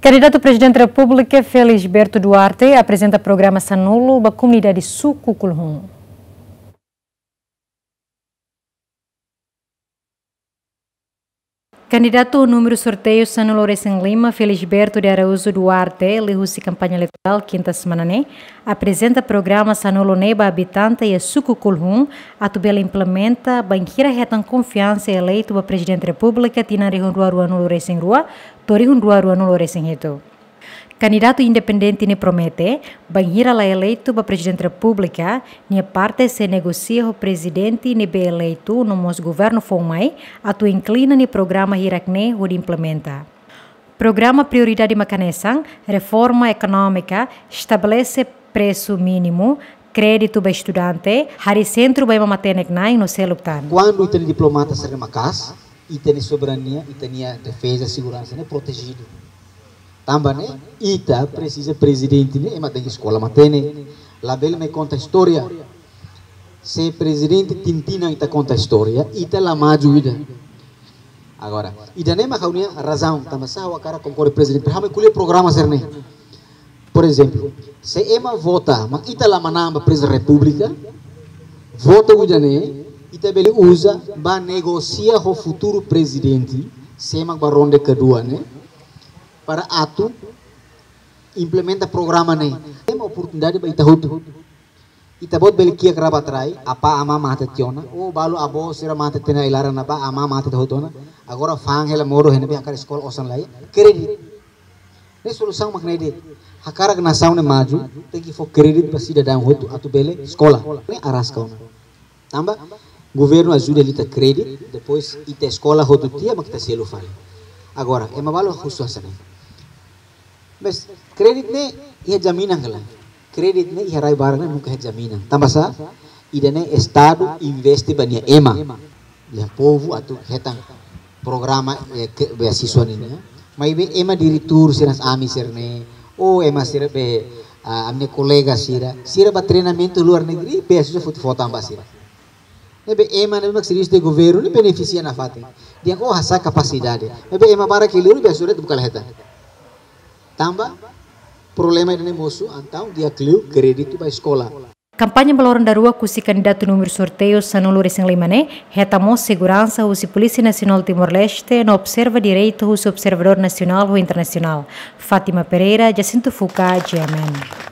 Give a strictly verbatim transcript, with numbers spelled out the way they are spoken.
Kandidatu Prezidente Repúblika Felisberto Duarte aprezenta programa sanulu ba komunidade Suku Kulhun. Kandidatu númeru sorteiu sanulu resin lima, Felisberto de Araújo Duarte, liuhusi kampaña eleitorál kinta semana ne'e, aprezenta programa sanulu ne'e ba abitante iha Suku Kulhun, atu bele implementa bainhira hetan konfiansa eleitu ba Prezidente Repúblika tinan rihun rua ruanulu resin rua to'o rihun rua ruanulu resin hitu. Kandidatu independente ne'e promete, bainhira la eleitu ba Prezidente Repúblika, nia parte sei negosia ho prezidente ne'ebé eleitu no mós governu foun mai, atu inklina nia programa hirak-ne'e hodi implementa. Programa prioridade mak hanesan, reforma ekonómika, estabelese presu mínimu, kréditu ba estudante, harii sentru ba ema matenek-na'in no seluk tan. Kuandu ita-nia diplomata sira maka'as, ita-nia soberania, ita-nia defeza, seguransa ne'e protejidu. Tanba ne'e, ita presiza prezidente ne'e, ema tenke eskola matenek, labele mai konta istória. Se prezidente tintinan ita konta istória, ita la maju ida. Agora, ida-ne'e mak ha'u-nia razaun, tanba sá ha'u hakarak konkorre prezidente, para ha'u mai ko'alia programa sira-ne'e. Por ezemplu, se ema vota, mak ita la manán ba Prezidente Repúblika, votu ida-ne'e, ita bele uza ba negosia ho futuru prezidente, sé mak bá ronda kedua ne'e, para atu implementa programa ne'e. Ema oportunidade ba ita hotu. Ita-boot bele kiak raba-rai, apá amá mate tiha ona, ou balu avó sira mate tiha ona iha laran ne'ebá, amá mate tiha hotu ona. Agora fa'an hela modo iha ne'ebé hakarak eskola osan lai, kréditu. Ne'e solusaun mak ne'e de'it. Hakarak nasaun ne'e maju, tenke fó kréditu ba sidadaun hotu atu bele eskola. Ne'e araska ona. Tanba governu ajuda liután kréditu, depois ita eskola hotu tiha mak ita selu fali. Agora, ema balu husu hanesan ne'e. Mas kréditu ne'e iha jaminan ka lae? Kréditu ne'e iha rai barak ne'e nunka iha jaminan. Tanba sá, ida-ne'e Estadu investe ba nia ema, nia povu atu hetan programa, eh, ke, beasiswa nian. Maibé ema diretór sira, ami sira-ne'e, ou ema sira be, ah, ami-nia kolega sira, sira bá treinamentu luar negeri, beasiswa foti fó tan ba sira. Ne'ebé ema ne'ebé mak servisu iha governu ne'e benefisia nafatin. Dehan ó hasa'e kapasidade. Ne'ebé ema barak iha liur beasiswa de'it buka la hetan. Tanba problema ida-ne'e mosu, entaun di'ak liu kréditu ba eskola. Kampaña ba loron daruak husi kandidatu númeru sorteiu sanulu resin lima ne'e, hetan mós seguransa husi Polísia Nasionál Timor-Leste, no observa direitu husi observadór nasionál ho internasionál. Fátima Pereira, Jacinto Fuca, G M N.